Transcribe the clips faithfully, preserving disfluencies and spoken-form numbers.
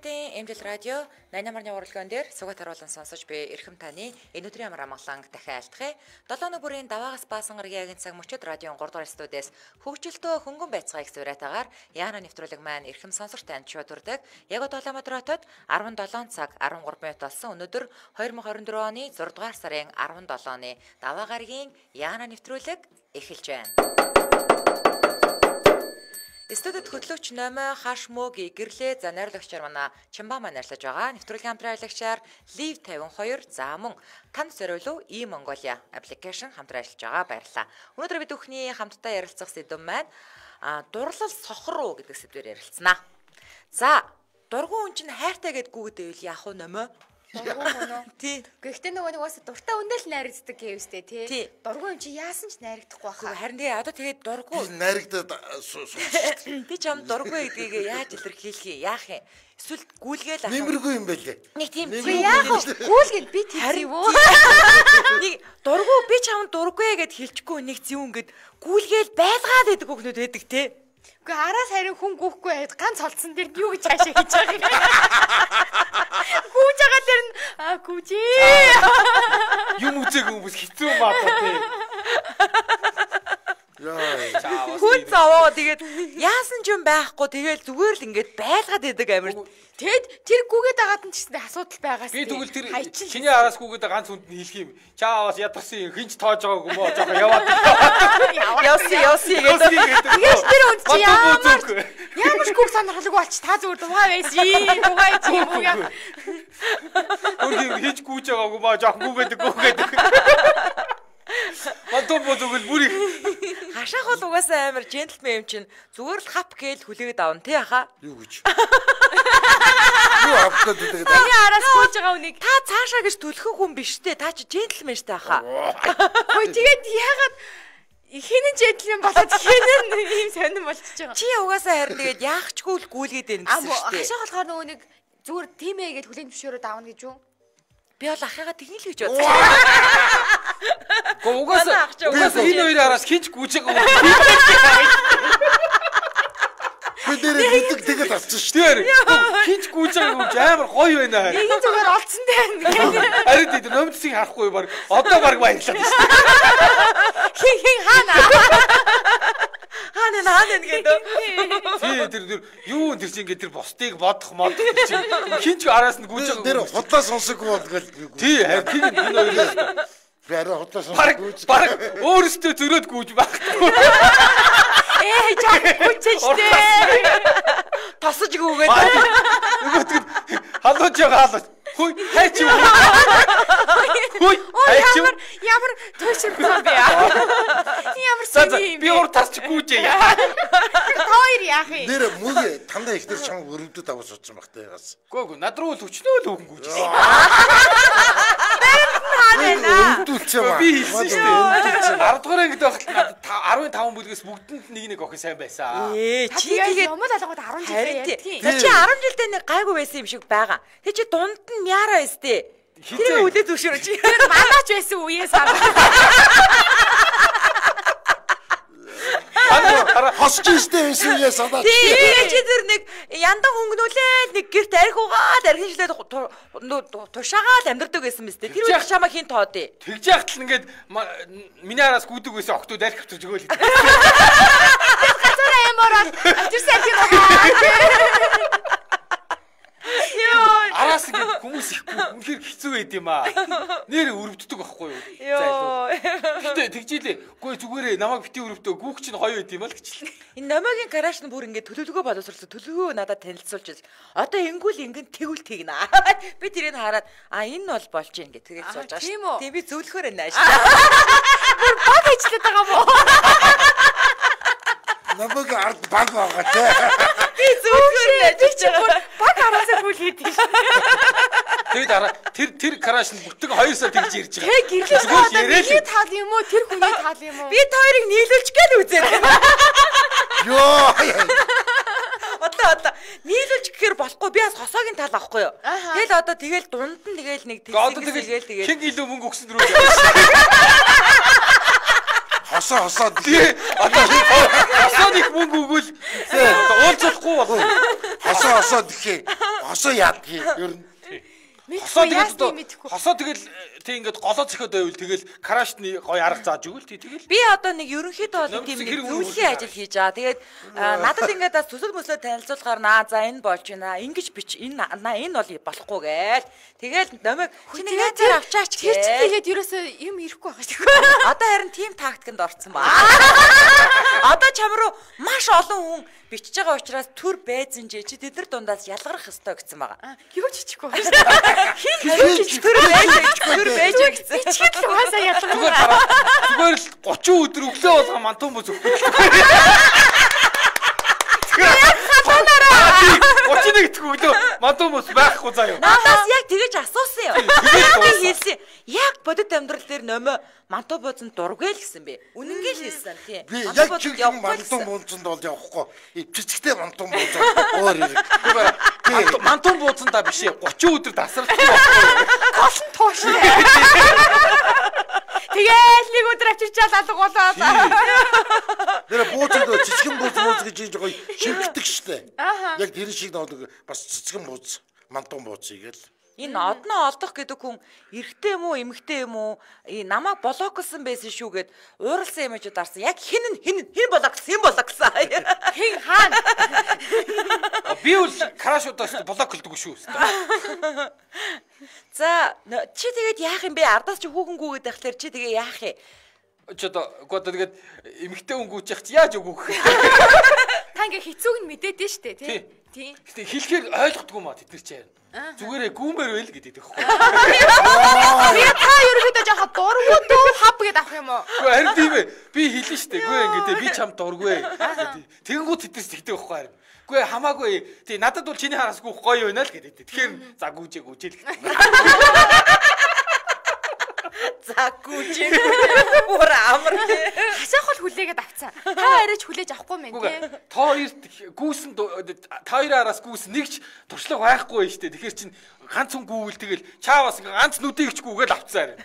Монголын Эмжил радио найман марны уралдаан дээр сугат харуулан сонсож би эрхэм таны энэ өдрийн амар амгаланг дахин айлтгая. долоо өнөө бүрийн даваагаас баасан гарагийн цаг мөчид радион гурав дугаар студиэс хөгжилтөө хөнгөн байцгааг зөврэтагаар Яна нэвтрүүлэг маань эрхэм сонсогч танд шуудурдаг. Яг одоо Улаанбаатар хотод арван долоо цаг арван гурав минут болсон. Өнөөдөр две тысячи двадцать четыре оны зургаадугаар сарын арван долооны даваа гарагийн Яна нэвтрүүлэг эхэлж байна. Студид хөтлөгч Номой хаш мөгийн гэрлээ за найруулагчаар манай Чимба маань ажиллаж байгаа. Нэвтрүүлгийн хамтран ажиллагчаар Live фифty two за мөн танд зориулуу E Mongolia application хамтран ажиллаж байгаа. Баярлалаа. Өнөөдөр бид бүхний хамтдаа ярилцах сэдв маань дурлал сохор уу гэдэг сэдвээр ярилцсанаа. За дургуун хүн чинь хайртай гэд гүгэд байвал яах вэ Номой? Дургуун мөн үү? Тий. Гэхдээ нөгөө нэгээс дуртай үндэл найрагддаг гэвстэй тий. Дургуун чи яасан ч найрагдахгүй баха. Харин тэгээ одоо тэгээд дургуун найрагдаад би ч ам дургуун гэдгийг яаж илэрхийлэх юм яах юм? Эсвэл гүйлгээл ах. Нэмэргүй юм байлээ. Нэг тийм яах вэ? Гүйлгээд би тэр юу? Нэг дургуун би ч ам дургуй гэд хэлчихгүй нэг зүүн гэд гүйлгээл байлгаад байдаг хөхнүүд байдаг тий. Үгүй араас харин хүн гүхгүй байд ганц холдсон дээр юу гэж хаашаа хийж байгаа юм. Гүүж байгаа дээр нь аа гүүжээ. Юм үзег хүмүүс хэцүү маатаа тий. Яа. Хүн зовоо тэгээд яасан ч юм байхгүй тэгээд зүгээр л ингээд байлгаад байдаг амир. Тэгэд тэр гүгээд агаад нь ч гэсэн асуудал байгаас. Би тэгвэл тэр чиний араас гүгээд ганц хүнд нь хэлэх юм. Чааваас ядарсан хинч тоож байгааг юм уу жоохон яваад. Явси явси гэдэг. Тэгээс тэр үнд чи ямар ямар ч гүг сонирхолгүй болч та зүгээр дугаа байсан. Дугаа чи юм уу яа. Өөр хинч гүйж байгааг юм аа жоохон гүгээд гүгээд. Мантон бодогл бүрий. Хашаах бол угаасаа амар джентлмен юм чинь зүгээр л хап гээл хүлээгээд авна тий аха. Юу гэж. Юу авдаг гэдэг. Таны араас гүйж байгаа үнийг та цаашаа гэж төлөхөг хүн биш тий. Та чи джентлмен штэ аха. Хөөе тэгээд яагаад хинэн джентлмен болоод хинэн ийм сонирн болчихж байгаа. Чи угаасаа харин тэгээд яахчгүй л гүйлгээд байна гэсэн штэ. Хашаах болохоор нөгөө нэг зүгээр тийм ээ гэж хүлээн зөвшөөрөөд аавна гэж юу? Би бол ахыгаа тэгнэ л гэж бодсон. Гоо угаасаа угаасаа энэ хоёр араас хинч гүйж байгаа юм. Би нэрээ мэддэг тэгэл авчих шүү. Тэр хинч гүйж байгаа юм амар гоё байна. Ийм зүгээр олцсон байна. Харин тийм номцыг харахгүй баг одоо баг баярлаад шүү. Хин хин хаана? Хаана хаана гэдэг. Тий тэр тэр юу тэр чинь ингээд тэр бусдыг бодох модох тэр чинь хинч араас нь гүйж байгаа. Тэр худлаа сонсоггүй болгоод. Тий харин тийм энэ хоёроос би арай худлаа сонсоггүй. Баг өөрөөсөө зөрөөд гүйж байхгүй. Ээ чаг гүйчээштэй. Тосож гүгээд. Нөгөөд халууж байгаа халууж. Хүй хайч юу. Хүй хайч юу. Ямар төшөрсөн бэ яа. Ямар сони юм. Би өөр тасч гүйжээ яа. Хоёр яах юм. Нэр мөг тандаа ихнэр чам өрөвдөд авах суудсан багтай ягаас. Гөө гөө над руу л өчнөө л өгөн гүйжээ. Би хэлсэн шүү дээ. арав дугаар ангид байхад надад арван таван бүлгээс бүгдэнд нэг нэг охин сайн байсан. Ээ чи тэгээд юм л алгад арван жил ярьдیں۔ За чи арван жилдээ нэг гайгүй байсан юм шиг байгаа. Тэг чи дунд нь мяра байстэй. Тэр үлээ зөвшөөрөж. Тэр манаач байсан үеэс аваа. Хосч истэ байсан яа санаа. Тэгээ чи тэр нэг яндан хөнгнүүлээд нэг гэрт арх угаад архинжлээд тушаагаал амьдэрдэг байсан мэт. Тэр үед чамаа хин тоодъё. Тэгж яхад л ингээд миний араас гүдэг байсан охтууд арх авчирч өгөөл. Гацаараа юм ороод авчирсан арх юм. Араас ингээд хүмүүс ихгүй үнэхээр хэцүү байд юм аа. Нэр өрөвддөг байхгүй юу? Йоо. Гэтэ тэгжээлээ. Үгүй зүгээрээ намайг бити өрөвдөө гүүх чинь хоёр байд юм аа л гэчихлээ. Энэ Номойгийн гараж нь бүр ингээд төлөвлөгөө боловсруулсан. Төлөвлөгөө надад танилцуулж. Одоо ингүүл ингээд тэгвэл тэгнэ. Би тэрийг хараад а энэ бол болж гин гэх тэгээд сууж байгаа шүү. Тийм би зөвлөхөр байна шүү. Бүр баг хийчлээд байгаа мó. Намайг ард баг байгаа те. Би зөвхөн ажиллаж байгаа. Баг араасаа бүл хийдэг шүү. Тэгээд араа тэр тэр краш нь бүтэн хоёр сар тэгж ирж байгаа. Тэг гэрлээ. Би таал юм уу? Тэр хүний таал юм уу? Би хоёрыг нийлүүлж гэл үзээд. Йоо. Одоо одоо нийлүүлж гэхээр болохгүй би бас хосоогийн тал авахгүй юу? Тэгэл одоо тэгэл дунд нь тэгэл нэг тэгэл тэгэл хин илүү мөнгө өгсөн рүү. Хосоо хосоо тий. Одоо хосоо нэг мөнгө өгвөл уулзахгүй байна. Хосоо хосоо гэхээ. Хосоо яадгийг ер нь. Хосоо тэгээд хосоо тэгэл тий ингээд голоо зөхөд байвал тэгэл крашны гоё арга зааж өгвөл тий тэгэл. Би одоо нэг ерөнхийдөө бол тийм нэг зөвлөлийн ажил хийж байгаа. Тэгээд надад ингээд төсөл мөслөө танилцуулахаар наа за энэ болж байна. Ингиж бич энэ энэ бол болохгүй гээл. Тэгэл номыг чиний найзаар авчаач гээл. Тэгээд ерөөсөө юм ирэхгүй байгаа шүү. Одоо харин тим тактиканд орцсон ба. Одоо чам руу маш олон хүн бичиж байгаа учраас төр байзанжээ чи тэдэр дундаас ялгарах ёстой гэсэн байгаа. Юу ч хийхгүй. Хин төр байж төр байж гэсэн. Ичгээд л угаасаа ялгарах. Зүгээр л гучин өдөр өглөө болгоо мантун бүс өгөх. гучин нэг өглөө мантун бүс байхгүй заа юу. Надаас яг тэгэж асуусан юм. Би хэлсэн. Яг бодит амьдрал дээр нөмөө мантуу бууцанд дургүй л гэсэн би. Үнэнгээ л хэлсэн тий. Би яг чиг мантун бууцанд бол явахгүй. Цэцэгтэй мантун бууцанд өөр ирэх. Мантун бууцандаа биш ээ. гучин өдөр тасралтай. Голн тууш. Тэгээл нэг өдөр авчирчаал алга болоод. Тэр бууцанд цэцгэн бууц бууц гэж ийж гоё шимтдэг штэ. Яг тэр шиг нэг бас цэцгэн бууц, мантун бууц ийгэл. Энэ одноо олдох гэдэг хүн эрэгтэй юм уу, эмэгтэй юм уу? Намайг блоклсон байсан шүү гэд ууралсан имижүүд арсан. Яг хин хин хин блоклсон, юм блоклсон. Хин хаана? Би бол крашуудаас блоклдгүй шүү. За, чи тэгээд яах юм бэ? Ардаас чи хүүхэнгүүгээд байхлаар чи тэгээ яах юм? Чи одоо гоо тэгээд эмэгтэй хүн гүйчих чи яаж өгөх? Та ингээ хэцүүг нь мэдээд штэ тий. Тий. Гэтэ хэлэхээр ойлгохгүй маа тэд нар чи. Зүгээрээ гүүмээр байл гэдэг тэгэхгүй. Би та ерөөдөө жоохон дургуу дөө хав гэдээ авах юм уу? Үгүй харин тийм ээ. Би хэлнэ штэ. Үгүй ингээ би чам дургүй. Тэгэнгүүт тэднээс тэгдэг байхгүй харин. Үгүй хамаагүй. Тий надад бол чиний хараас гүөх гоё байна л гэдэг. Тэгэхээр за гүүжээ гүүжээл гэдэг. За гүүжээ. Бүр амар тий. Хасаах бол хүлээгээд авцсан. Та хоёроо ч хүлээж авахгүй мэн тий. Та хоёрт гүүсэн та хоёрын араас гүүс нэгч туршлага байхгүй штэ. Тэгэхээр чин ганц хүн гүүвэл тэгэл чаавас ганц нүдийг ч гүүгээл авцсан.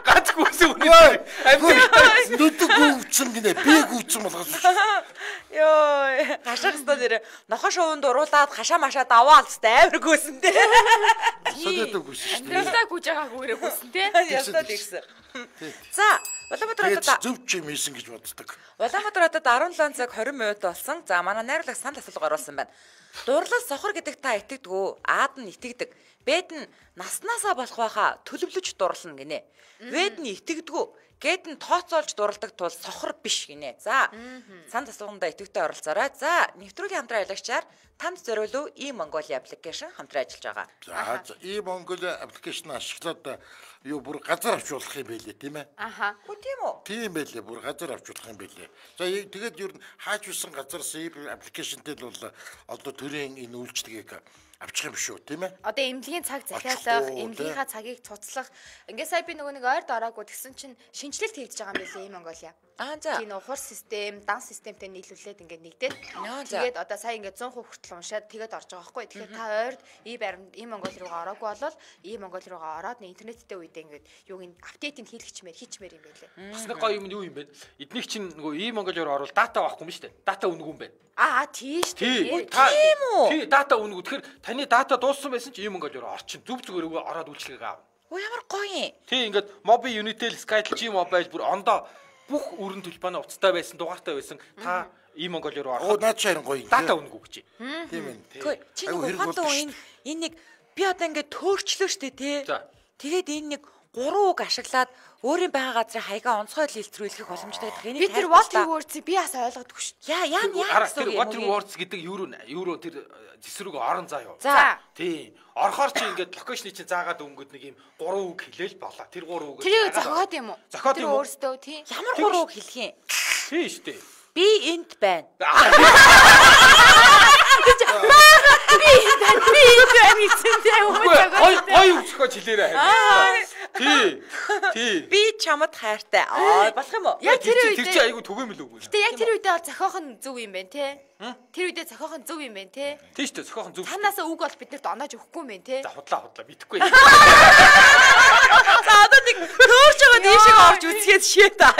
Ганц гүүсэн үнэ. Нүдэг гүүвчин гинэ. Би гүүвчин болгосон. Йоо, хашаа хэвээр нэр нохоо шуунд уруулаад хашаа машаа даваа алцтай амар гүйсэн дээ. Содөд гүйсэн шүү дээ. Ястаа гүйж байгаа гүүрээ гүйсэн тий. Ястаа тэгсэн. За, Улаанбаатар хотод зөв ч юм ийсэн гэж боддог. Улаанбаатар хотод арван долоо цаг двадцать минут болсон. За, манай найруулагч санал асуулга оруулсан байна. Дурлал сохор гэдэг та итгэдэг үү? Аад нь итгэдэг. Бэд нь наснаасаа болох байхаа төлөвлөж дурлна гинэ. Бэд нь итгэдэг үү? Гэд нь тооцоолж дурладаг тул сохор биш гинэ. За, санал асуулганд идэвхтэй оролцоорой. За, нэвтрүүлгийн хамтран аялагчаар танд зориулв e-Mongolia application хамтран ажиллаж байгаа. За, e-Mongolia application ашиглаад юу бүр газар авчруулах юм байлээ тийм ээ. Аха. Хөө тийм үү? Тийм байлээ, бүр газар авчруулах юм байлээ. За, тэгээд ер нь хааж висэн газар application-тэй бол одоо төрийн энэ үйлчлэгийг авчих юм шүү тийм ээ. Одоо эмнэлгийн цаг захиалах, эмнэлгийнхаа цагийг цуцлах. Ингээ сая би нөгөө нэг ойр дороогүй тэгсэн чинь шинжилэлт хийж байгаа юм билээ e-Mongolia. Аа за. Тийм ухар систем, дан системтэй нийлүүлээд ингээ нэгдээд. Тэгээд одоо сая ингээ one hundred хүртэл уншаад тэгээд орж байгаа байхгүй. Тэгэхээр та ойрд e-Mongolia руугаа ороогүй болол e-Mongolia руугаа ороод интернеттэй үедээ ингээ юуг ин апдейтинг хийлгэчмээр хийчмээр юм байлээ. Бас нэг гоё юм юу юм бэ? Эднийг чинь нөгөө e-Mongolia руу орвол дата авахгүй юм шүү дээ. Дата үнэгүй юм байна. Аа тийм шүү дээ. Тийм үү? Тий, дата үнэгүй. Тэгэхээр таны дата дууссан байсан чи e-Mongolia руу орчин. Зүг зүгээр ороод үйлчлэгийг аав. Оо ямар гоё юм. Тий, ингээд Mobi Unitel, Skytel, G-Mobile бүр ондоо бүх өрн төлбөрийн уцтай байсан, дугаартай байсан. Та e-Mongolia руу ороход Оо наад чарын гоё. дата үнэгүй гэж. Тийм ээ. Гэхдээ чи нэг ухаантай энэ энэ нэг би одоо ингээд төөрчлөө штэ тий. Тэгээд энэ нэг гурван үг ашиглаад өөрийн байгаа газрын хаягаа онцгой илтрүүлэх боломжтой гэдэг. Энийг би тэр water words би бас ойлгодгүй шүү. Яа яа яа гэсэн үг. Water words гэдэг евро евро тэр зэсрүүг орон заа юу. За. Тийм. Орохоор чи ингээд локейшны чинь заагаад өнгөд нэг юм гурван үг хэлээл болоо. Тэр гурван үг. Тэр зохиод юм уу? Зохиод юм уу? Өөрсдөө тийм. Ямар гурван үг хэлэх юм? Тийм шүү дээ. Би энд байна. Би энд байна. Би энд байна гэсэнтэй үү? Гой гой үсгэж хэлээрэй. Тий. Тий. Би чамд хайртай. Аа болох юм уу? Яг тэр үед тэр чи айгу түгээмэл үг. Гэтэ яг тэр үедээ бол зохиох нь зөв юм байна те. Тэр үедээ зохиох нь зөв юм байна те. Тийм шүү дээ. Зохиох нь зөв. Танаасаа үг бол биднэрт оноож өгөхгүй юм байна те. За худлаа худлаа битгэхгүй. За одоо нэг төөрж байгаа дийшээ орж үзгээд шээ та.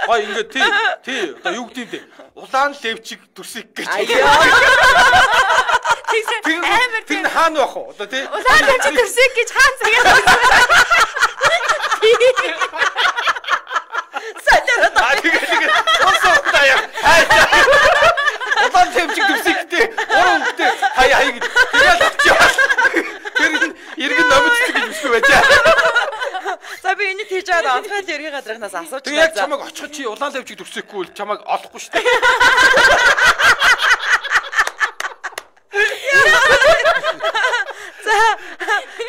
Гой ингээд тий тий одоо юу гэдэг вэ? Улаан левчиг дүрсийг гэж. Амар тэр хаана байх вэ? Одоо тий. Улаан левчиг дүрсийг гэж хаан цагаад. Сэтэрэ. Аа тэгээд тэгээд уусаа яа. Улаан левчиг дүрсийг тий. Гурван тий. Хай хай гэж. Тэгээд авчаа. Тэр иргэн номч гэж бишгүй байжаа. За би энэ тийж аваад онцгой ергийн гадрынхаас асууж байна. Яг чамайг очиход чи улаан левчиг дүрсэхгүй бол чамайг олохгүй шүү дээ. За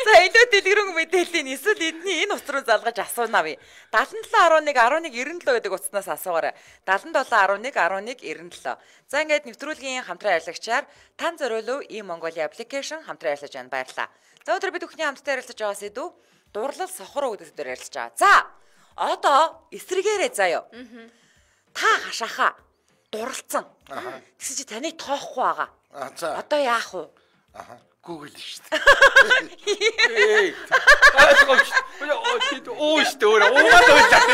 за илүү дэлгэрэнгүй мэдээллийн эсвэл эдний энэ утас руу залгаж асуунаа би. seventy seven eleven eleven ninety-seven гэдэг утаснаас асуугаарай. seventy seven eleven eleven ninety-seven. За ингээд нэвтрүүлгийн хамтран ажиллагчаар тань зориулв ийм Mongolia application хамтран ажиллаж байна. Баярлалаа. За өнөөдөр бид бүхний хамтдаа ярилцаж байгаа сэдв дурлал сохор гэдэг дээр ярилцаж байгаа. За одоо эсрэгээрээ заяа. Та хашааха дурлцсан. Тэгсэн чи таны тоохгүй байгаа. За одоо яах вэ? Аха. Google шүү дээ. Оо шүү дээ. Уугаад ойлаад.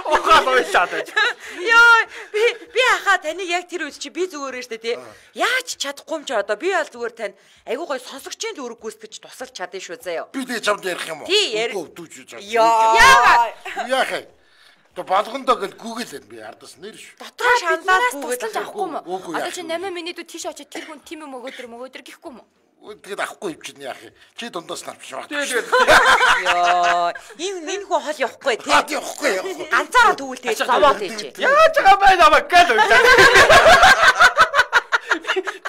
Уугаад ойлаад. Йоо би би ахаа таны яг тэр үед чи би зүгээрээ штэ тий. Яаж чадахгүй юм чи одоо би бол зүгээр тань айгуу гой сонсогчийн зүрэг гүйцэтгэж тусалж чадсан шүү заяа. Би тэг чамд ярих юм уу? Үгүй дүүж жаа. Яа. Яах вэ? То болгондоо гэл Google энэ би ардас нэр шүү. Дотор шаналаад Google авахгүй юм уу? Одоо чи eight минутууд тийш очиж тэр хүн тийм юм өгөөдөр мөгөөдөр гэхгүй юм уу? Тэгээд авахгүй юм чинь яах юм? Чи дундаас навчраа. Тэгээд ёо энэ энэ хүн хол явахгүй тий. Явахгүй яах. Ганцаараа тэгвэл тэгээд зовоод ийж. Яаж байгаа бай намайг гэл үйлээ.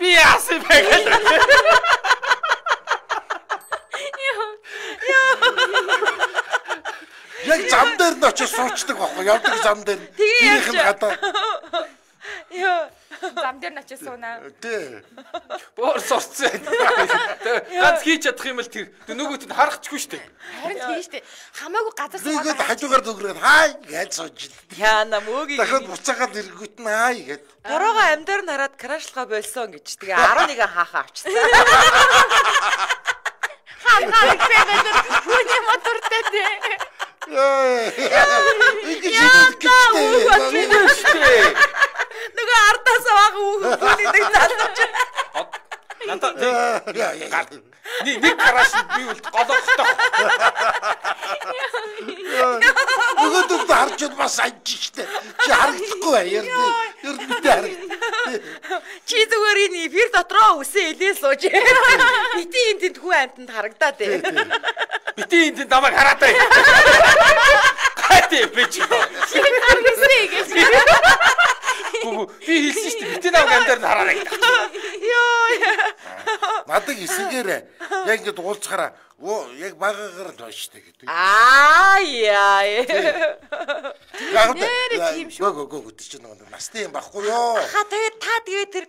Би яасан бэ гэл. Яг зам дээр нь очиж суучдаг байхгүй явдаг зам дээр. Тэрийнх нь гадаа. Йоо зам дээр нь очиж суунаа. Тий. Боор сурцсан. Ганц хийж чадах юм л тэр нөгөөт нь харахчгүй шүү дээ. Харин тийм шүү дээ. Хамаагүй газар суугаад. Тэгээд хажуугаар зүгрээд хай гэж сууж. Яана мөөгийг. Дахиад буцаагаад эргүүт нь хай гэд. Дорогоо амьдаар нараад крашлгаа болсон гэж. Тэгээ eleven хаахаа авчихсан. Хаан хаан гэдэг хүний мотортой дээ. Яа. Нөгөө ардаас авах үгүй нэг залууч. Надад нэг нэг гараж би үл голоохтой. Нөгөөдөө харж бас анж штэ. Чи харагдахгүй бай. Ер нь ер нь би харагд. Чи зүгээр энэ эфир дотроо үсээ илээ сууж. Бити энэ тэнд хүн амтанд харагдаад ээ. Бити энэ тэнд намайг хараад бай. Хатэ би чи. Харгисээ гэж. Гүг би хэлсэн шүү дээ. Бити намайг амдаар нь хараарай. Йоо. Надад эсэгээр яг ингэ уулзахаараа яг багаагаар л байна штэ гэдэг. Аа яа. Яг тийм шүү. Гөө гөө гөө чи нэг насны юм байхгүй ёо. Ха тэгээд та тэгээд тэр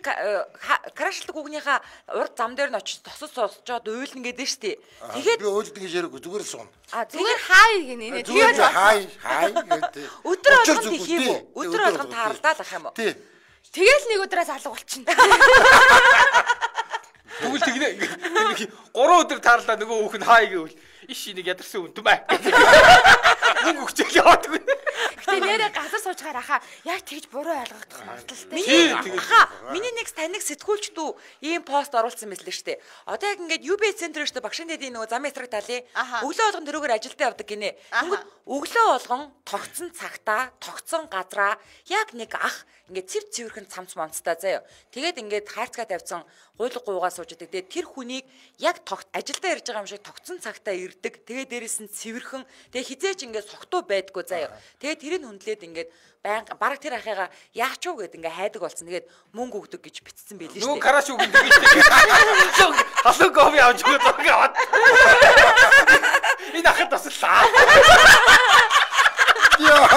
крашлдаг үгнийхаа урд зам дээр нь очиж тосож сонсчоод уйлна гэдэг штэ. Тэгээд би уйлдаг гэж яриаггүй зүгээр л суун. А зүгээр хай гинэ нэ. Тэгээд хай хай гэдэг. Өдөр болгонд хийх юм уу? Өдөр болгонд тааралдаад ах юм уу? Тий. Тэгэл нэг өдрөөс алга болчихно. Тэгвэл тэгнэ гурван өдөр таарлаа нөгөө хүүхэн хай гэвэл иш нэг ядарсан үн түмэ. Мөнгө өгчөөл яваад гэнэ. Гэтэ нэрээ газар суучгаар ахаа яг тэгж буруу ойлгогдох магадлалтай. Миний хаа миний нэг таныг сэтгүүлч дүү ийм пост оруулсан мэт л штэ. Одоо яг ингээд ю би центр штэ багшийн дэдийн нөгөө зам эсрэг талын өглөө болгон тэрүүгээр ажилдаа явдаг гинэ. Тэнгүүд өглөө болгон тогтсон цагтаа тогтсон газраа яг нэг ах ингээд цэв цэвэрхэн цамц момцтай заяа. Тэгээд ингээд хайрцгаа тавьсан гуйлг гуугаа сууж идэг. Тэгээд тэр хүнийг яг тогт ажилдаа ирж байгаа юм шиг тогтсон цагтаа ирдэг. Тэгээд дээрээс нь цэвэрхэн тэгээд хизээч ингээд согтуу байдгүй заяа. Тэгээд тэрийг хүндлээд ингээд баян бараг тэр ахыгаа яач уу гэд ингээ хайдаг болсон. Тэгээд мөнгө өгдөг гэж битсэн байлээ шүү дээ. Нөгөө караш үг гэдэг шүү дээ. Халуун кофе авч өгөөд аваад. Энэ ахад таслаа. Яа.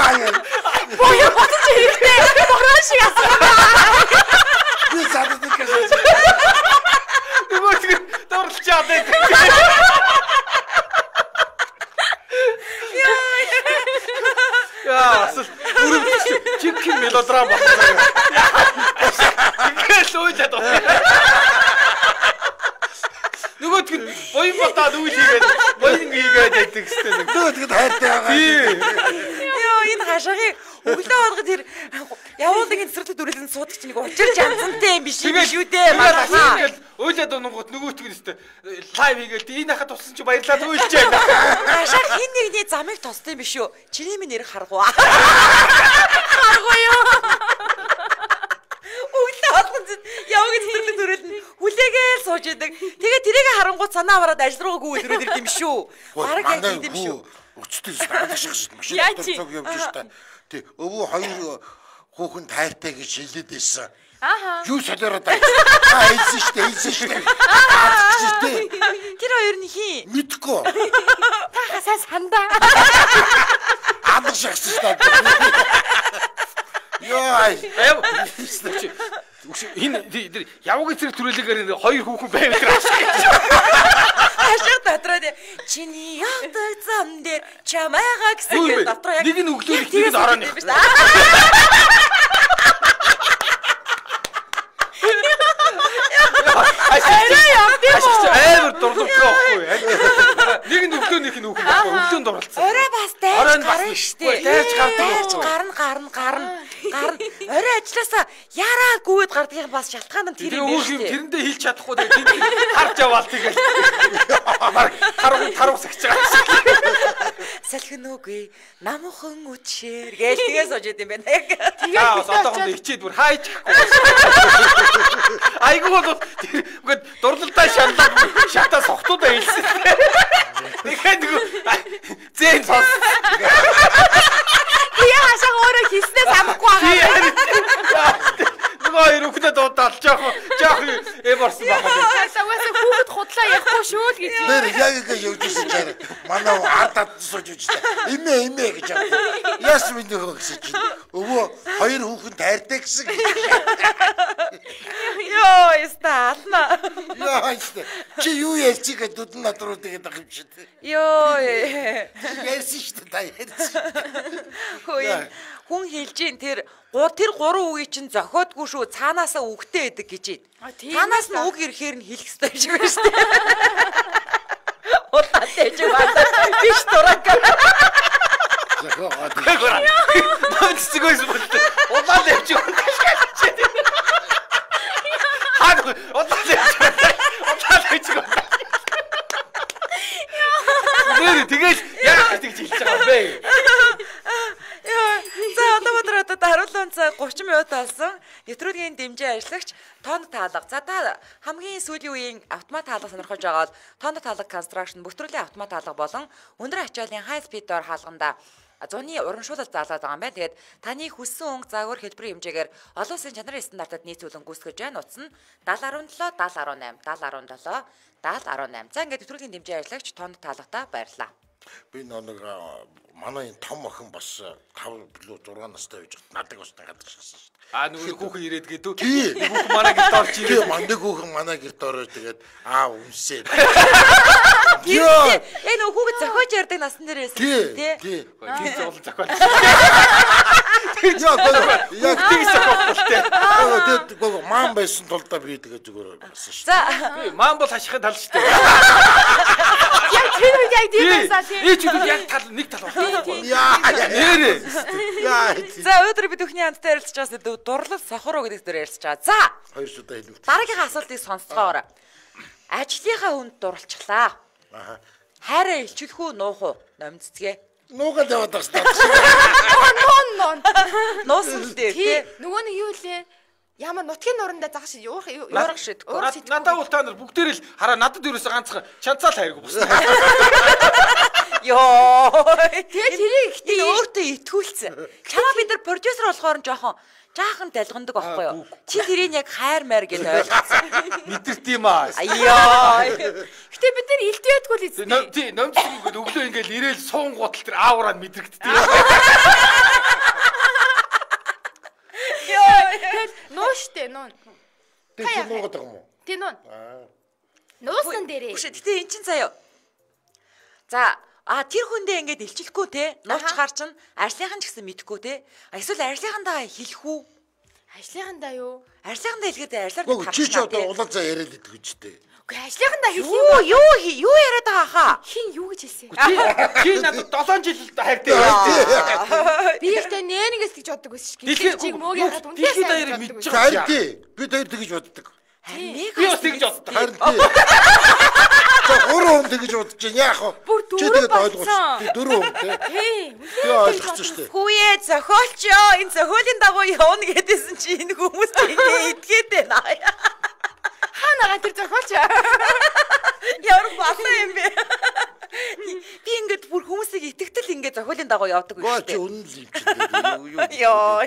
Боёо бодож ирэхтэй. Бороо шиг асуу. Би задад гэж. Нөгөө тийм дурлж чаддаг. Яа, асуу. Чик мелодрама болсон. Ингээл уйлаад байна. Нөгөө тийм боён батаад үйл хийгээд боён хийгээд байдаг гэсэн нэг. Нөгөө тийм хайртай байгаа. Йоо энэ хашаагийн өглөө болгоо тэр явуулын цэцэрлэг дүрэлэн суудаг чинь нэг учирч янзантай юм биш үү дээ. Ингээл ойлаад онгот нөгөөтг нь өстө лайв хийгээл энэ хахад туссан чи баярлаад үйлж байна. Хашаа хин нэгний замыг тусдаг юм биш үү? Чиний минь нэр харгуу. Харгуу юу? Өглөө болгон явуулын цэцэрлэг дүрэлэн хүлээгээл сууж идэг. Тэгээ тэрийг харангуут санаа аваад ажил руу гүйдэрүүд ирд юм шүү. Бараг яг юм шүү. Өчтөр стаадах шиг машин цог явж штэ. Тий, өвөө хоёр хүүхэн тайртай гэж хэлээд байсан. Ааха. Юу солиороо даа. Аа, хэлсэн штэ, хэлсэн штэ. Тэр хоёр нь хий. Мэдгүй. Та хасаа сандаа. Амар шахсан штэ. Яа. Аяа. Энэ явуугийн зэрэг төрөлөөр хоёр хүүхэн байв тэр ашиг дотроо чиний явдаг зам дээр чамайгаа гэсэн дотроо яг нэг нь өглөө нэг нь орооны. Амар дурлалтай байхгүй. Нэг нь өглөө нэг нь өглөө өглөөнд дурлалцсан. Орой бас дайж гарна штэ. Дайж гардаг. Дайж гарна гарна гарна гарна. Орой ажилласаа яраа гүйд гардаг юм бас шалтгаан нь тэр юм шүү дээ. Тэрэндээ хэлж чадахгүй тэгээд харж яваал тэгэл. Таруу таруу сагч байгаа. Салхин үгүй намхан үчээр гээл тэгээс сууж идэм байна. Тэгээд одоохондоо хичээд бүр хайж гахгүй. Айгуу бол үгүй дурлалтай шаналаа шатаа сохтуудаа хэлсэн. Тэгэхээр нэг зэн цос. Яа хашаа өөрөө хийснээс амахгүй байгаа. Нөгөө хоёр үхнээ дуудаад жоох жоох эвэрсэн байна. Саваас хүүхэд худлаа явахгүй шүү л гэж. Нэр яг ингэ явжсэн чаар. Манай ардад сууж үжтэй. Имээ имээ гэж яваа. Яс минь хөө гэсэн чинь. Өвөө хоёр хүүхэн тайртай гэсэн. Йоо, ястаална. Яа ястаа. Чи юу ярьчих гэж дүдэн над руу тэгээд байгаа юм шиг. Йоо. Ярьсан шүү дээ та ярьсан. Хөөе. Хүн хэлж ин тэр тэр гурван үгийг чинь зохиодгүй шүү цаанаасаа үгтэй байдаг гэж ий. Цаанаас нь үг ирэхээр нь хэлэх ёстой шиг байна шүү дээ. Удаа тэгж байна. Биш дурак. Наач згойс болтой. Удаа тэгж байна. Хаг удаа тэгж байна. Удаа тэгж байна. Нэр тэгэл яах гэж хэлж байгаа бэ? За одоо өдөр одоо харуулсан цаг гурван минут болсон. Нэвтрүүлгийн дэмжээ ажиллагч тоонд таалга. За та хамгийн сүүлийн үеийн автомат таалга сонирхож байгаа бол тоонд таалга construction бүртгүүлийн автомат таалга болон өндөр ачааллын high speed door хаалганда зуны урамшуулалт заалаад байгаа юм байна. Тэгээд таны хүссэн өнгө загвар хэлбэрийн хэмжээгээр олон улсын чанарын стандартад нийцүүлэн гүйцэтгэж байна. Утас нь даал арван төлөө даал арван eight даал арван seven даал арван eight. За ингээд нэвтрүүлгийн дэмжээ ажиллагч тоонд таалгатаа баярлалаа. Би нэг манай том охин бас five билүү six настай байж надад бас гадаг шахсан шүү дээ. Аа нөгөө хүүхэн ирээд гэдэг үү? Тий. Хүүхэн манай гэрт орж ирээд. Тий, манай хүүхэн манай гэрт ороод тэгээд аа үнсээ. Яа. Энэ нөгөө хүүхэд зохиож ярьдаг насн дээрээс тий. Тий. Тэр зовлон зохиол. Яг яг тийс зохиолтой. Аа тэгээд гоо маан байсан тул да би тэгээд зүгээр байсан шүү. За. Маан бол хашихын тал шүү дээ. Яг тэр үед яг тийм байсан тийм. Ээ чи яг тал нэг тал байна. Яа. Нэрээ. Яа. За өдөр бид бүхний хамтдаа ярилцж байгаа зүйл дурлал сохороо гэдэг дээр ярилцж байгаа. За. Хоёр шудаа хэлвэ. Дараагийн асуултыг сонсцгоорой. Ажлынхаа хүнд дурлцглаа. Аа. Хайраа илчлэх үү, нуух уу? Номцгээ. Нуугаад яваад байгаа шүү. Нон нон. Нуусан л дээ, тий. Нөгөө нэг юу лээ? Ямар нутгийн нурандаа загаш юурах юурах шидэхгүй. Надад бол та нар бүгдээр л хараа надад ерөөсө ганцхан чанцаал хайргүй босна. Йоо. Тэгээ тэрийг ихтэй өөртөө итгүүлсэн. Чамаа бид нар продюсер болохоор жоохон жаахан далгандаг байхгүй юу? Чи тэрийг яг хайр маяр гэж ойлгосон. Мэдэрт юм аа. Аяа. Гэтэ бид нар илтээдгүй л эзэн. Тий, номцгод өглөө ингээл ирээл суун гутал тэр аавраа мэдрэгддэг. Нуу штэ нуун. Тэр нуугаад байгаа юм уу? Тий нуун. Нуусан дээрээ. Үгүй гэтээ эн чин заяа. За а тэр хүндээ ингээд илчлэхгүй те нуучгаар чинь ажлынхан ч гэсэн мэдхгүй те эсвэл ажлынхандаа хэлэх үү? Ажлынхандаа юу? Ажлынхандаа хэлгээд ажлаар Гүү чи ч одоо улаан цаа яриад идэх үстэй. Үгүй ажлынхандаа хэлэх юм. Юу юу юу яриад байгаа хаа? Хин юу гэж хэлсэн? Чи надад долоон жил хайртай байна. Би ихтэй нээнэгэс гэж боддог байсан шүү. Гэтэл чиг мөөг яхад үнэхээр сайн баярыг мэдчих. Харин тий. Би тэр тэгж боддог. Би бас тэгж боддог. Харин тий. Гурван хүн тэгж бодож чинь яах вэ? Чи тэгээд ойлгосон. Дөрөв хүн тий. Би ойлгосон шүү дээ. Хүүе зохиолч ёо энэ зохиолын дагуу явна гэдээсэн чи энэ хүмүүс тэгээ идгээд байна. Хаанаа тэр зохиолч ямар балаа юм бэ? Би ингээд бүр хүмүүсийг итгэтэл ингээд зохиолын дагуу явдаг үү? Чи үнэн л юм чи. Йоо.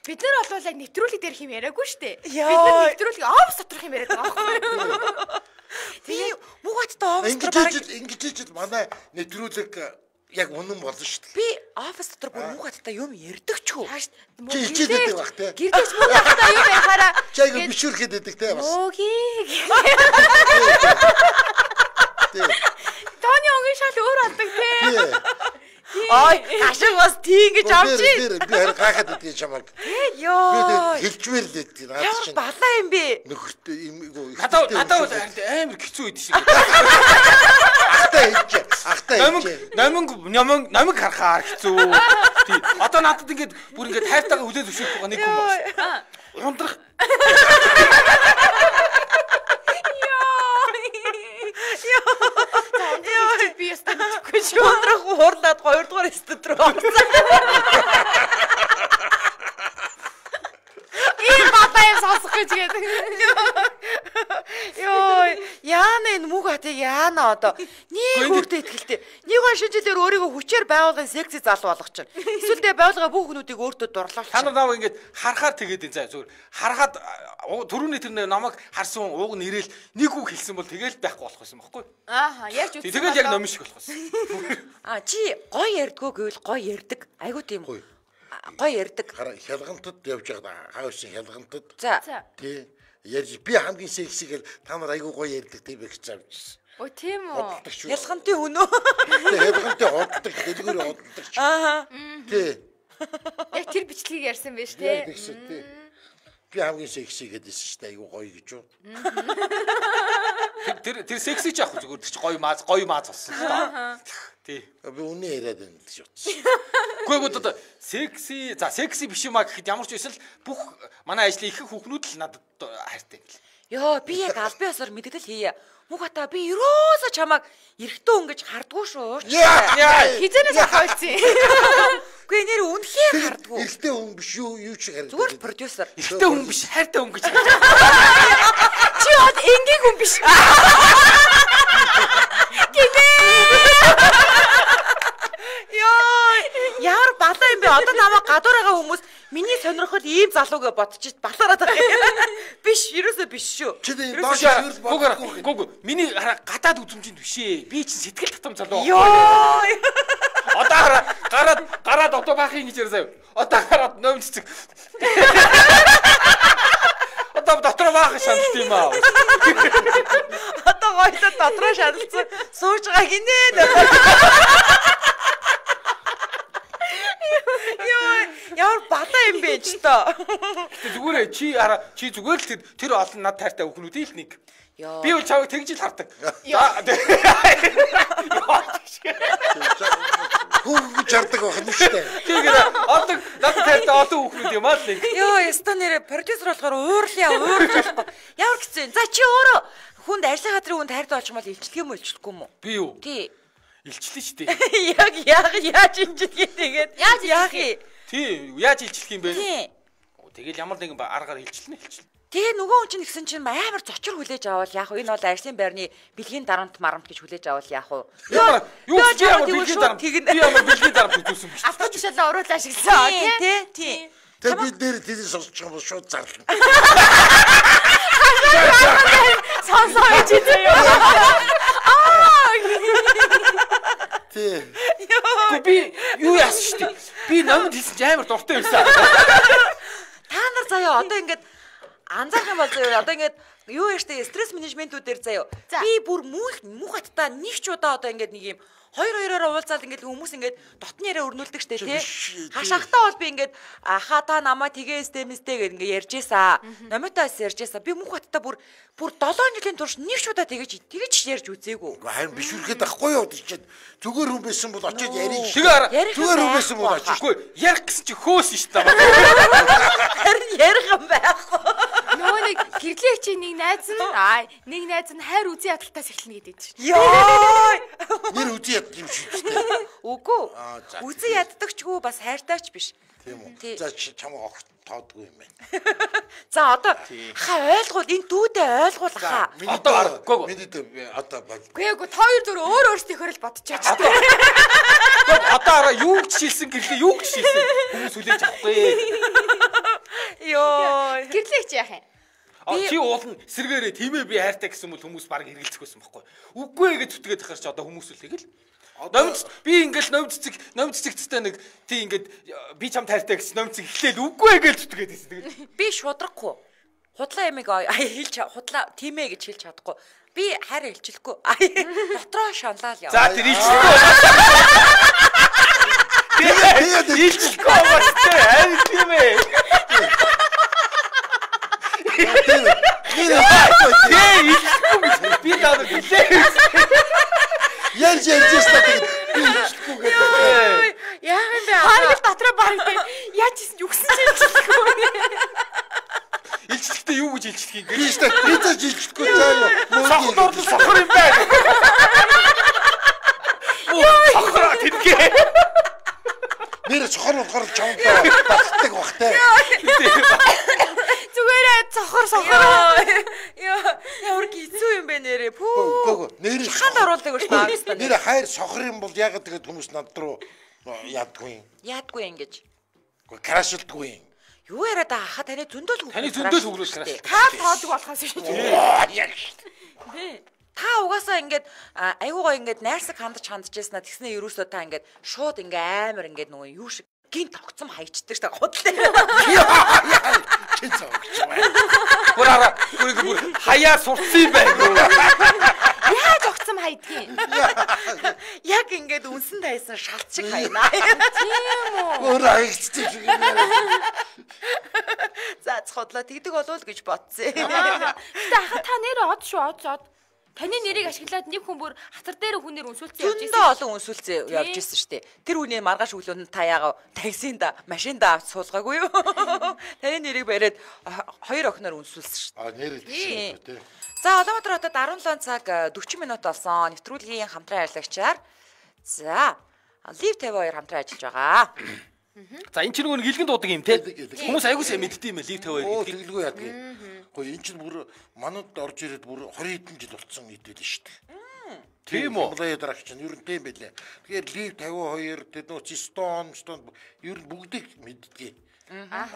Бид нар бол яг нэвтрүүлэг дээр хэм яриаггүй шүү дээ. Бид Йоо. нар нэвтрүүлэг офс доторх юм яриад байгаа байхгүй. Би муугаттай офс Ингэж дотор ижил ингэж ижил манай нэвтрүүлэг яг үнэн болно шүү дээ. би офс дотор бүр муугаттай юм ярьдаг ч үү? Чи хичээдэг байх те. Гэрдэж муугаттай юу байхаараа Чи яг бишүүрхэд байдаг те бас. Өөгийг. Тий. Таны өнгийн шал өөр алдаг те. Ой, ашиг бас тийм гэж авч ий. Би харин гайхаад идэх чамаг. Йоо. Би хэлжмээр л идэх наад Ямар чинь. балаа юм бэ? Нөхөртэй юм гоо. Надаа надаа амар хэцүү үед шиг. Ахтай хийж. Ахтай Номиг хийж. номиг номиг номиг харахаар хэцүү. Тий. Одоо надад ингээд бүр ингээд хайртайгаа хүлээл зөвшөөрөх байгаа нэг хүн байна. Ундрах. Би ястаа мэдгүй шүү. Өндрөх хуурлаад хоёрдугаар студ руу орсон. Ийм батаа юм сонсох гэж гээд. Йоо, яана энэ муг хатыг яана одоо. Нэг хүрдэ ихтэй. Нэг гоо шинжилээр өөрийгөө хүчээр байгуулгын секси залуу болгочихно. Эсвэл тэ байгуулгын бүх хүмүүдийг өөртөө дурлуулчих. Та нар наваа ингээд харахаар тэгээд энэ заа зүгээр. Харахад түрүүний тэр намайг харсан ууг нэрэл нэг үг хэлсэн бол тэгэл байхгүй болох байсан байхгүй. Ааха, яаж үтсэн. Тэгэл яг номш болох байсан. А чи гой ярьдгөө гэвэл гой ярьдаг. Айгуу тийм гой ярьдаг. Хялгантад явж байгаа хаашийн хялгантад. За. Тий. Ярьж би хамгийн сексигээр та нар айгуу гоё ярьдаг тийм их завж. Оо тийм үү. Ялгантын хүн үү? Хялгантын hodдаг, дэлгүүр hodдаг. Аа. Тий. Яг тэр бичлэгийг ярьсан байж тээ. Тий. Би хамгийн секси гэдээсэн шүү дээ айгуу гоё гэж юу. Тэр тэр секси ч яах вэ зүгээр чи гоё мааз гоё мааз болсон шүү дээ. Тий. Би үнэ яриад байна л шүү. Гэхдээ одоо секси за секси биш юм а гэхэд ямар ч байсан л бүх манай ажлын их хүүхнүүд л надад хайртай юм л. Йоо, би яг албан ёсоор мэддэл хийе. Мугата би ерөөсө чамайг эрэгтэй хүн гэж хардггүй шүү. Хизэнээс ахуулсан. Үгүй нэр үнхээр хардггүй. Эрэгтэй хүн биш юу юу ч харагдав. Зүгээр продюсер. Эрэгтэй хүн биш хайртай хүн гэж. Чи од энгийн хүн биш. Йоо, яар балаа юм бэ? Одоо намайг гадуур байгаа хүмүүс миний сонирхол ийм залуугээ бодчих балаараад байгаа. Биш, ерөөсөө биш шүү. Чи доош хөрл Гүг гүг миний гадаад үзмжинд биш ээ. Би чинь сэтгэл татам залуу. Йоо. Одоо гараад гараад одоо баахын гэж ярьсан. Одоо гараад ном цэцэг. Одоо дотроо баах шаналт юм аа. Одоо гоёлоо дотроо шаналцсан сууж байгаа гинэ. Йоо, яар балаа юм бэ ч тоо. Зүгээр чи хараа чи зүгээр л тэр тэр олон над тайртай хүүхнүүдийн л нэг. Би бол чавыг тэгж л хардаг. Хүүхд жардаг байх нь шүү дээ. Тэгэхээр олон над тайртай олон хүүхнүүд юм аа л нэг. Йоо, яста нэрэ продюсер болохоор уурлаа, уурж болохгүй. Ямар гэсэн. За чи өөрөө хүнд ажлын газрын хүнд хайртай болчих юм бол илчлэх юм уу, илчлэхгүй юм уу? Би юу? Тий. Илчлээ шүү дээ. Яг яг яаж илчлэх тэгээд Яаж яах юм? Тий, яаж илчлэх юм бэ? Тий. Тэгэл ямар нэгэн аргаар илчлэнэ илчлэнэ. Тэгээ нөгөө хүн чинь гэсэн чинь амар зочор хүлээж авал яах вэ? Энэ бол ажлын байрны бэлгийн дарамт марамт гэж хүлээж авал яах вэ? Ямар юу ч ямар бэлгийн дарамт. Би ямар бэлгийн дарамт үзүүлсэн биш. Автод тушаалаа уруулаа ашигласан. Тий, тий. Тэгээ бид нэр тэрийг сонсчих юм бол шууд зарлана. Сонсоо гэж заяа. Тий. Би юу яасан шүү дээ. Би номонд хэлсэн ч амар дуртай байсан. Та нар заяа одоо ингээд анзаарах юм бол заяа одоо ингээд юу яаштай стресс менежментүүдээр заяа. Би бүр мөнх мухаттай нэг ч удаа одоо ингээд нэг юм хоёр хоёроо уулзаад ингээд хүмүүс ингээд дотны яриа өрнүүлдэг штэ тий. Хашаахтаа бол би ингээд аха та намаа тгээстэй мэстэй гэх ингээд ярьжээсаа. Номитоос ярьжээсаа. Би мөнх баттай бүр бүр долоо жилийн турш нэг шудаа тэгэж тэгэж ярьж үзээгүй. Харин бишүрхэд ахгүй юу тийчээд зүгээр хүн байсан бол очиод ярих. Тэгээ зүгээр хүн байсан бол очихгүй ярих гэсэн чи хөөс шүү дээ. Харин ярих юм байхгүй. Нөгөө нэг гэрлээ чи нэг найз нь аа нэг найз нь хайр үзий ядалтаас эхэлнэ гэдэг чинь. Йоо! Нэр үзий яддаг юм шиг дээ. Үгүй. Үзий яддагчгүй бас хайртайч биш. Тийм үү. За чамаа огт тоодгүй юм байна. За одоо хаа ойлгуул энэ дүүдээ ойлгуул хаа. Одоо аргагүй. Миний одоо Үгүй ээ, та хоёр зүр өөр өөрсдийнхөө л бодчихаач. Одоо араа юу гэж шилсэн гэрлээ юу гэж шилсэн. Хүмүүс хүлээж авахгүй. Йоо. Гэрлээ чи яах юм? А чи уулна сэргээрээ тиймээ би хайртай гэсэн бол хүмүүс баг хэргэлцэх байсан байхгүй. Үгүй ээ гэж зүтгээд тахаар чи одоо хүмүүс үлээг л. Номц би ингээл номццэг номццэгттэй нэг тий ингээд би чам тайртай гэсэн номцэг эхлээл үгүй ээ гэж зүтгээд байсан. Тэгээд би шудрахгүй. Худлаа ямиг хэлж худлаа тиймээ гэж хэлж чадахгүй. Би хайр хэлчихлэхгүй. Дотроо шанлаа л яа. За тэр илчлэхгүй. Тэгээд илчлэхгүй бас тий хайр тиймээ. Би даа гэлээ. Яаж яаж статик би илчлэхгүй гэдэг. Яа юм бэ? Харгал дотроо баг яаж хийсэн юу гэсэн чи илчлэхгүй. Илчлэхдээ юу гэж илчлэх юм бэ? Би ч би ч илчлэхгүй заа юу. Сохор сохор юм байна. Сохор тэтгэ. Нэр сохор болохоор чамтай батдаг бахтай. Зүгээрээ цохор сохор. Яа, ямар гизүү юм бэ нэрээ. Пүү. Нэр ханд оруулдаг гэж таамсан. Нэр хайр сохор юм бол яагаад тэгээд хүмүүс над руу яадгүй юм. Яадгүй ингэж. Гэхдээ крашилдгүй юм. Юу яриад байгаа хаа таны зөндөл хөвгөл. Таны зөндөл хөвгөл краш. Та тоодог болохоос шүү дээ. Та угаасаа ингээд айгуугаа ингээд найрсаг хандаж хандажсэн тэгснэ ерөөсөө та ингээд шууд ингээ амар ингээд нөгөө юу шиг гин тогтцом хайчдаг та худлаа. Чин цогч бай. Бураараа бүрийг бүр хаяа сурцсан юм байна. Яаж огцом хайдгийг? Яг ингээд үнсэн тайсан шалт шиг хайнаа. Тийм үү? Өөр аягцчих шиг юм. За цодлоо тэгдэг болов гэж бодсон. Гэтэ ахаа та нэр од шүү од од. Таны нэрийг ашиглаад нэг хүн бүр хатар дээр хүнээр үнсүүлсэн явж ирсэн. Зөндөө олон үнсүүлсэн явж ирсэн шүү дээ. Тэр хүний маргааш өглөөнд та яага таксинд машинда авч суулгаагүй юу? Таны нэрийг бариад хоёр охиноор үнсүүлсэн шүү дээ. А нэр хэлсэн тий. За Улаанбаатар хотод арван долоо цаг дөрвөн минут болсон. Нэвтрүүлгийн хамтран ажиллагчаар за Лив тавь хоёр хамтран ажиллаж байгаа. За энэ ч нэг гэлгэн дуудаг юм те. Хүмүүс аягүй сайн мэддэг юм Лив тавь хоёр гэдэг. Тэглгүй яадаг. Гэхдээ энэ чинь бүр манад орж ирээд бүр двадцать хэдэн жил болцсон идэв шүү дээ. Тийм үү? Улаан дараач чинь ер нь тийм байлээ. Тэгэхээр Лив фifty-two тэр нөө Стон, Стон ер нь бүгдийг мэддэг.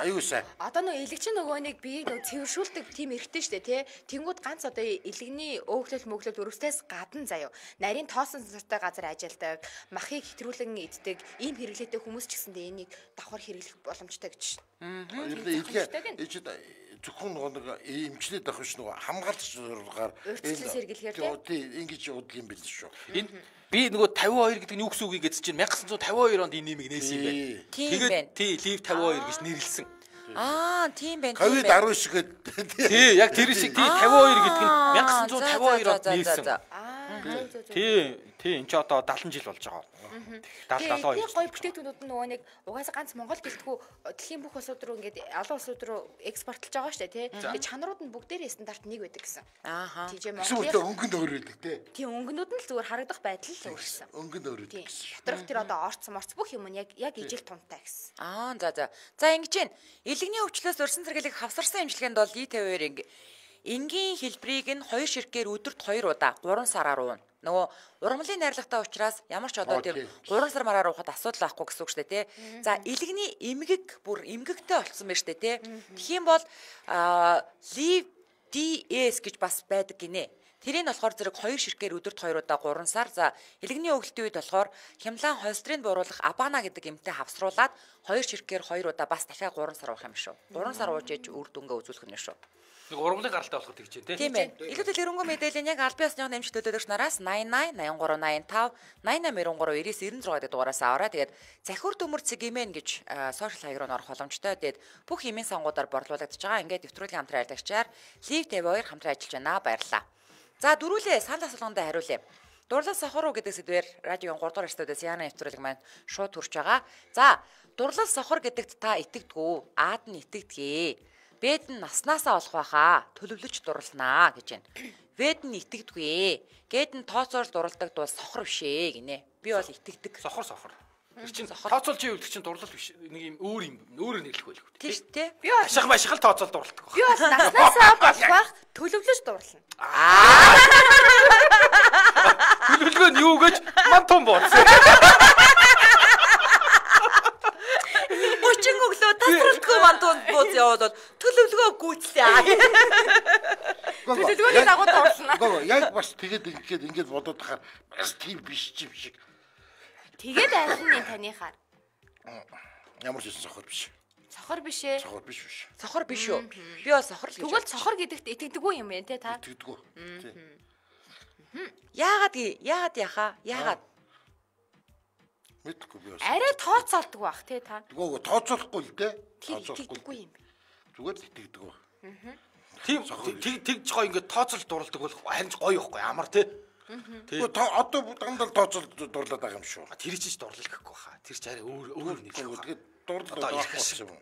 Аюу сайн. Одоо нөө элэгч нөгөө нэг биеийг нөө цэвэршүүлдэг тийм эрхтэй штэ тий. Тэнгүүд ганц одоо элэгний өөхлөл мөглөл өрөвстөөс гадна заяо. Нарийн тоосон сартай газар ажилладаг, махыг хэтрүүлэн иддэг, ийм хэрэглээтэй хүмүүс ч гэсэндээ энийг давхар хэрэглэх боломжтой гэж. Аа. Ер нь элэг зөвхөн нэг эмчлээд авах ш нөгөө хамгаалч зургаар өөрчлөлт сэргийлэхээр тий ингэж удаг юм бэл шүү. Энэ би нөгөө fifty-two гэдэг нь юу гэсэн үг гэж чинь nineteen fifty-two онд энэ нэмийг нээсэн юм байна. Тэгээд тий Liv fifty-two гэж нэрлсэн. Аа тийм байна. ковид ten шиг гэдэг. Тий яг тэр шиг тий fifty-two гэдэг нь nineteen fifty-two онд нээсэн. Аа тий тий энэ ч одоо seventy жил болж байгаа. seventy seventy-two. Тэгээ гоё бүтээгдэхүүнүүд нь нөгөө нэг угаасаа ганц Монгол гэлтгүү дэлхийн бүх улсууд руу ингээд олон улсууд руу экспортлж байгаа шүү дээ тий. Тэгээ чанарууд нь бүгдээрээ стандарт нэг байдаг гэсэн. Ааха. Тийж Монголын өнгөнд өөр байдаг тий. Тийм өнгөнүүд нь л зүгээр харагдах байдал л өөрчлөсөн. Өнгөнд өөр байдаг гэсэн. Доторх тэр одоо орцсон морц бүх юм нь яг яг ижил тунтай гэсэн. Аа за за. За ингэж байна. Илэгний өвчлөөс өрсөн цэргэлэг хавсарсан имчилгээнд бол Liv fifty-two энгийн хэлбэрийг нь хоёр ширхгээр өдөрт хоёр удаа гурван сараар уuna. Нөгөө ургамлын найрлагатай учраас ямар ч одоо тэр гурван сар мараар уухад асуудал байхгүй гэсэн үг шүү дээ тий. За илэгний эмгэг бүр эмгэгтэй болцсон байна шүү дээ тий. Тэгхийн бол Liv ди эс гэж бас байдаг гинэ. Тэрийг болохоор зэрэг хоёр ширхгээр өдөрт хоёр удаа гурван сар. За илэгний өглөлтийн үед болохоор хямлаан холестерин бууруулах Абана гэдэг эмтэй хавсруулад хоёр ширхгээр хоёр удаа бас дахиад гурван сар уух юм шүү. гурван сар ууж ээж үр дүнгээ үзүүлэх нь шүү. Нэг ургамлын гаралтай болоход тэгж дээ. Тийм ээ. Илүүдэл өрөнгөө мэдээлэл яг аль биесны нэмж төдөлгч нараас найн найн найн гурав найн тав найн найн найн гурав девять девять шесть дугаараас аваарай. Тэгээд захиур төмөр цэг имэн гэж сошиал хаяг руу орох боломжтой. Тэгээд бүх имэн сонгуудаар борлуулагдаж байгаа. Ингээд нэвтрүүлгийн хамтран ажиллагчаар Лив Тэв хоёр хамтран ажиллаж байна. Баярлалаа. За дөрүүлээ санал асуулгандаа хариулъя. Дурлал сохор уу гэдэг сэдвээр радиогийн гурав дахь студиэс яана нэвтрүүлэг маань шууд хүрч байгаа. За дурлал сохор гэдэгт та итгэдэггүй. Аад нь итгэдэггүй. Бэд нь наснаасаа олох байхаа төлөвлөж дурлнаа гэж байна. Бэд нь итгэдэггүй. Гээд нь тооцоол дурладаг дуу сохор биш ээ гинэ. Би бол итгэдэг. Сохор сохор. Тэр чинь тооцоолж ивэл чинь дурлал биш. Нэг юм өөр юм өөрөөр нэрлэх байлгүй. Тийм шүү дээ. Би бол ашиг машиг л тооцоол дурладаг баг. Би бол наснаасаа болох байх төлөвлөж дурлна. Төлөвлөгөө нь юу гэж ман том бооцсон. Өчиг өглөө тасралтгүй мантууд бууз яваад төлөвлөгөө гүйцлээ. Төлөвлөгөөний дагуу дурлна. Гоо яг бас тэгээд ингээд ингээд бодоод тахаар бас тийм биш ч юм шиг. Тэгээд айхны таныхаар. Ямар ч сохор биш. Сохор биш ээ. Сохор биш биш. Сохор биш үү? Би бол сохор л гэж. Тэгвэл сохор гэдэгт итгэдэггүй юм байна те та. Итгэдэггүй. Яагаад яагаад яхаа? Яагаад? Мэдгүй би бас. Арай тооцоолдог байх те та. Гоо тооцоолохгүй л дээ. Итгэдэггүй юм. Зүгээр л итгэдэггүй. Тийм тэгж гоё ингээд тооцоол дурладаг бол харин гоё ихгүй амар тий. Тэгвэл одоо дандаа тооцоол дурлаад байгаа юм шүү. Тэр чинь дурлал гэхгүй хаа. Тэр чинь арай өөр өөр нэг. Тэгээд дурлал байхгүй болсон юм.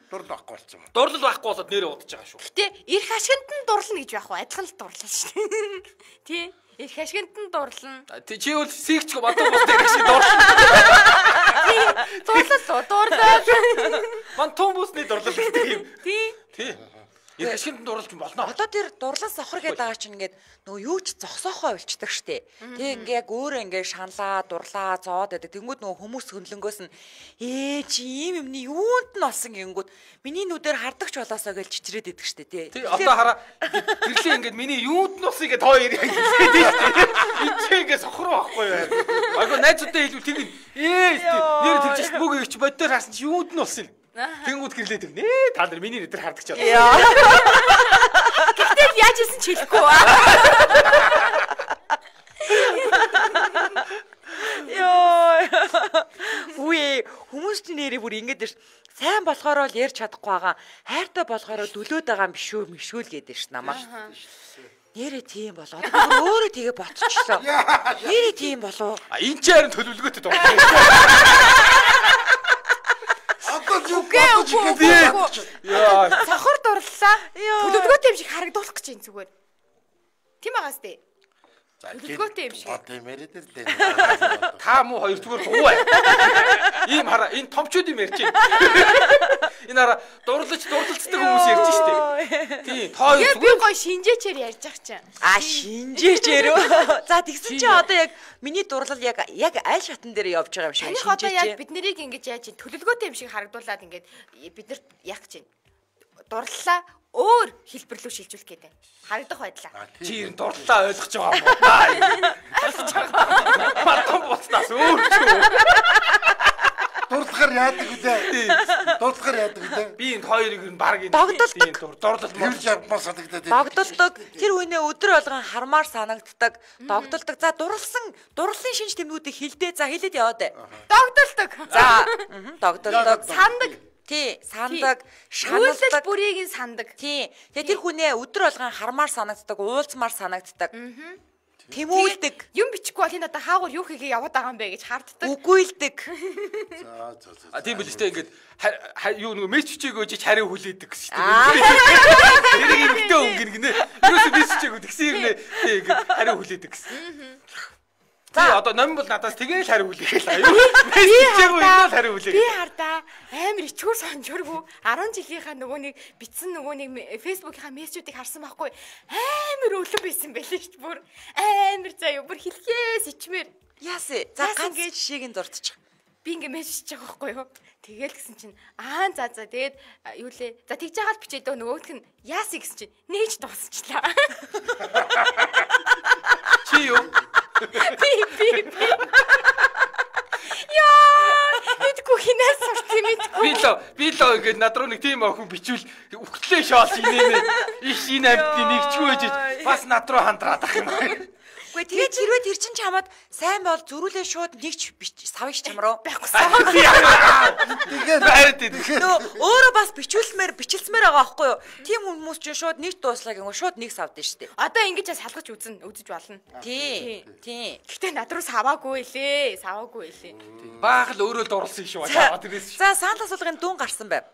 Дурлал байхгүй болсон юм. Дурлал байхгүй болоод нэрээ удаж байгаа шүү. Гэтэ эрх ашигт нь дурлна гэж байх уу? Адилхан л дурлал шүү дээ. Тий. Эрх ашигт нь дурлна. Чи бол сэгч бадуу бостой гэж дурлна. Дурлал дурлал. Ман том бүсний дурлал гэдэг юм. Тий. Тий. Эрх ашигт дурлж болно. Одоо тэр дурлал сохор гэдэг байгаа чинь ингээд нөгөө юу ч зогсоохоо болчдаг штэ. Тэг ингээ яг өөрөө ингээ шаналаа, дурлаа, зоод гэдэг. Тэнгүүд нөгөө хүмүүс хөндлөнгөөс нь ээ чи ийм юмны юунд нь олсон гингүүд миний нүдээр хардагч болоосоо гэж чичрээд идэг штэ тий. Тий одоо хараа гэрлээ ингээд миний юунд нь олсон гэд хоёр хэлээд штэ. Энд чи ингээ сохор байхгүй юу? Айгу найзуудтай хэлвэл тэг ээ нэр тэгж штэ бүгд ирч боддоор харсан чи юунд нь олсон юм? Тэнгүүд гэрлээ тэг нээ та нар миний нүдээр хардагч болоо. Гэтэл яаж исэн ч хэлэхгүй ба. Йоо. Үе хүмүүс нэрээ бүр ингэж ш. Сайн болохоор л ярьж чадахгүй байгаа. Хайртай болохоор дөлөөд байгаа юм биш үү, мишүүл гэдэг ш намайг. Нэрээ тийм болоо. Өөрөө тэгээ ботчихлоо. Нэрээ тийм болоо. А энэ ч харин төлөвлөгөөтэй дуртай. Үгүй үгүй. Яа. Сохор дурлаа. Төлөвлөгөөтэй юм шиг харагдуулах гэж юм зүгээр. Тийм байгаас тээ. Төлөвлөгөөтэй юм шиг. Одоо мэрээд л дээ. Та муу хоёр зүгээр дуу бай. Ийм хараа энэ томчууд юм ярьж байна. Энэ хараа дурлаж дурлалцдаг хүмүүс ярьж штэ. Тий, тоо зүгээр. Би гоё шинжээчээр ярьж ах чинь. А шинжээчээр үү? За тэгсэн чи одоо яг миний дурлал яг яг аль шатан дээр явж байгаа юм шиг шинжээч. Одоо яг бид нарыг ингэж яаж чинь төлөвлөгөөтэй юм шиг харагдуулаад ингэж биднэрт яах гэж байна. Дурлалаа өөр хэлбэрлүү шилжүүлэх гэдэг. Харагдах байдлаа. Чи ер нь дурлалаа ойлгож байгаа юм байна. Ойлгож байгаа. Матан боцнаас өөр ч юу. Дурлахаар яадаг үү? Дурлахаар яадаг үү? Би энэ хоёрыг ер нь баг энэ догдолдог. дурлал Хэрж явмаар санагдаад. Догдолдог. Тэр хүнээ өдөр болгон хармаар санагддаг. Догдолдог. За дурлсан дурлалын шинж тэмдгүүдийг хилдээ. За хэлээд яваад бай. Догдолдог. За догдолдог. Сандаг. Тий, сандаг, шаналдаг, шаналдаг, бүрийг нь сандаг. Тий. Тэгээ тэр хүнээ өдөр болгон хармаар санагддаг, уулзмаар санагддаг. Тэмүүлдэг. Юм бичихгүй бол энэ одоо хаагур юу хийгээ яваад байгаа юм бэ гэж харддаг. Үгүйлдэг. За за за. А тийм биз дээ ингээд юу нэг мессеж чиг өгч хариу хүлээдэг гэсэн шүү дээ. Тэрийг ихтэй өнгөн гинэ. Юусе мессеж чиг тэгсэн юм нэ. Тий ингээд хариу хүлээдэг гэсэн. За одоо ном бол надаас тэгээ л хариу хүлээгээл аюу. Мессеж чиг өгнө хариу хүлээг. Би хардаа амар ичгүүр сонжургүй арван жилийнхаа нөгөө нэг битсэн нөгөө нэг фэйсбүүкийнхаа мессежүүдийг харсан байхгүй амар өлөн байсан байлээ шүү дээ бүр амар заяа бүр хэлхээс ичмээр яасэ за ганц жишээг нь дурдчих. Би ингээ мессежж байгаа байхгүй юу тэгэл гэсэн чинь аа за за тэгээд юу лээ за тэгж байгаа л бичээд нөгөөх нь яасэ гэсэн чинь нээж дуусчлаа. Чи юу? Би би би яа мэдгүй хинээс сурт юм мэдгүй. Би л би л ингээд над руу нэг тийм охин бичвэл өгтлээ шоол инээнэ. Иш энэ амтны нэгчгүй гэж бас над руу хандраад ах юм. Үгүй тэгээд хэрвээ тэр чин чамд сайн бол зөрүүлээ шууд нэгч савж чам руу байхгүй. Тэгээд байрд тийм. Нөө өөрөө бас бичүүлсмээр бичилсмээр байгаа байхгүй юу? Тим хүмүүс чинь шууд нэгт дууслаа гэнэ шууд нэг савд нь штэ. Одоо ингэж салгаж үзнэ, үзэж болно. Тий. Тий. Гэхдээ над руу саваагүй лээ. Саваагүй лээ. Баах л өөрөө дурлсан шүү. Аа тэрээс. За Санта суулгын дүн гарсан байв.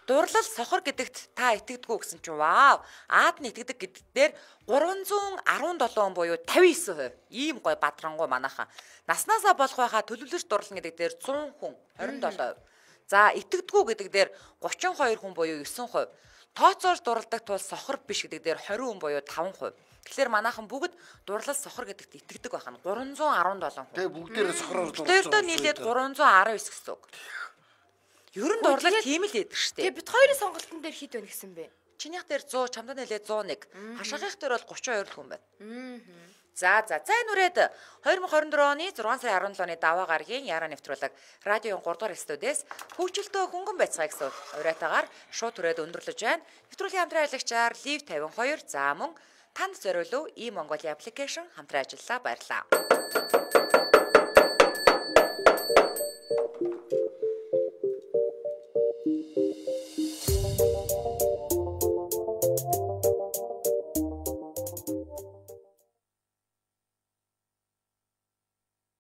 Дурлал сохор гэдэгт та итгэдэггүй гэсэн чинь вау. Аад нь итгэдэг гэдэг дээр гурван зуун арван долоо буюу тавьсан хувь. Ийм гой бадрангуй манайхан. Наснасаа болох байхаа төлөвлөж дурлна гэдэг дээр зуун хүн хорин долоо хувь. За итгэдэггүй гэдэг дээр гучин хоёр хүн буюу девять хувь. Тооцоолж дурладаг тул сохор биш гэдэг дээр двадцать хүн буюу таван хувь. Тэгэхээр манайхан бүгд дурлал сохор гэдэгт итгэдэг байхна гурван зуун арван долоо хүн. тэгээ бүгдээрээ сохроор дурлсан. Тэрдөө нийлээд гурван зуун арав девять гэсэн үг. Ер нь дурлал тийм л яддаг штеп. Тэгээ бид хоёрын сонголтын дээр хэд байна гэсэн бэ? Чинийх дээр сто, чамдаа нэлээд сто и один. Хашаагийнх дээр бол тридцать two хүн байна. За за за энэ үрээд twenty twenty-four оны six сарын seventeen оны даваа гарагийн яараа нэвтрүүлэг радиогийн three дугаар студиэс хөгжилтөө хөнгөн байцгаа гэсэн уриатаагаар шууд түрээд өндөрлөж байна. Нэвтрүүлгийн хамтран аялагчаар Live fifty-two за мөн танд зориулв e Mongolia application хамтран ажиллаа баярлалаа.